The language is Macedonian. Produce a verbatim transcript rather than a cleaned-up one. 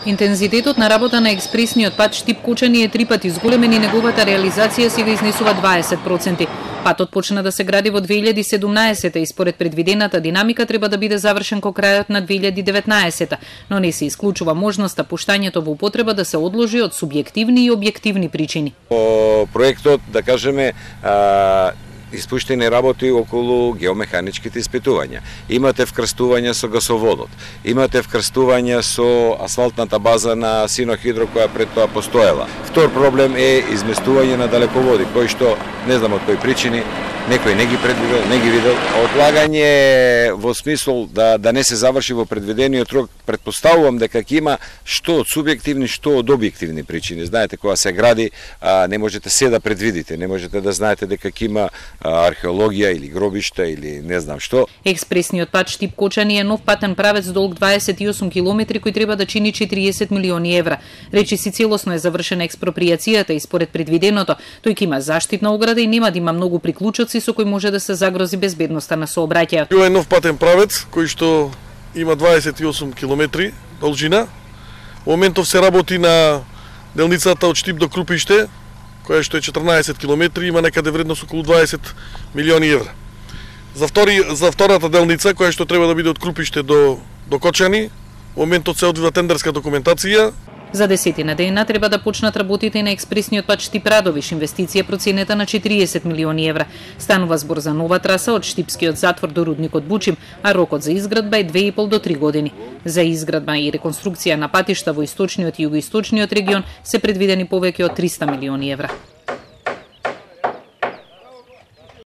Интензитетот на работа на експресниот пат Штип-Кочани е три пати зголемен и неговата реализација сега изнесува дваесет проценти. Патот почна да се гради во две илјади и седумнаесета и според предвидената динамика треба да биде завршен кон крајот на две илјади и деветнаесета, но не се исклучува можноста пуштањето во употреба да се одложи од субјективни и објективни причини. По проектот, да кажеме, а... испуштени работи околу геомеханичките испитувања. Имате вкрстување со гасоводот, имате вкрстување со асфалтната база на Синохидро која пред тоа постоела. Втор проблем е изместување на далеководи, кои што не знам од кои причини некој не ги предвидел, не ги видел. Отлагање во смисол да да не се заврши во предвидениот рок, претпоставувам дека ќе има што од субјективни, што од објективни причини. Знаете, кога се гради, а, не можете се да предвидите, не можете да знаете дека ќе има археологија или гробишта или не знам што. Експресниот пат Штип-Кочани е нов патен правец долг дваесет и осум километри кој треба да чини четириесет милиони евра. Речиси целосно е завршена експропријацијата и според предвиденото, тој ќе има заштитна ограда и нема да има многу приклучоци со кои може да се загрози безбедноста на сообраќајот. Ова е нов патен правец кој што има дваесет и осум километри должина. Во моментов се работи на делницата од Штип до Крупиште, која што е четрнаесет километри, има некаде вредност околу дваесет милиони евра. За втори за втората делница која што треба да биде од Крупиште до до Кочани, во моментот се одвива тендерска документација. За десетина дена треба да почнат работите на експресниот пат Штип-Радовиш, инвестиција проценета на четириесет милиони евра. Станува збор за нова траса од Штипскиот затвор до рудникот Бучим, а рокот за изградба е две и пол до три години. За изградба и реконструкција на патишта во источниот и југоисточниот регион се предвидени повеќе од триста милиони евра.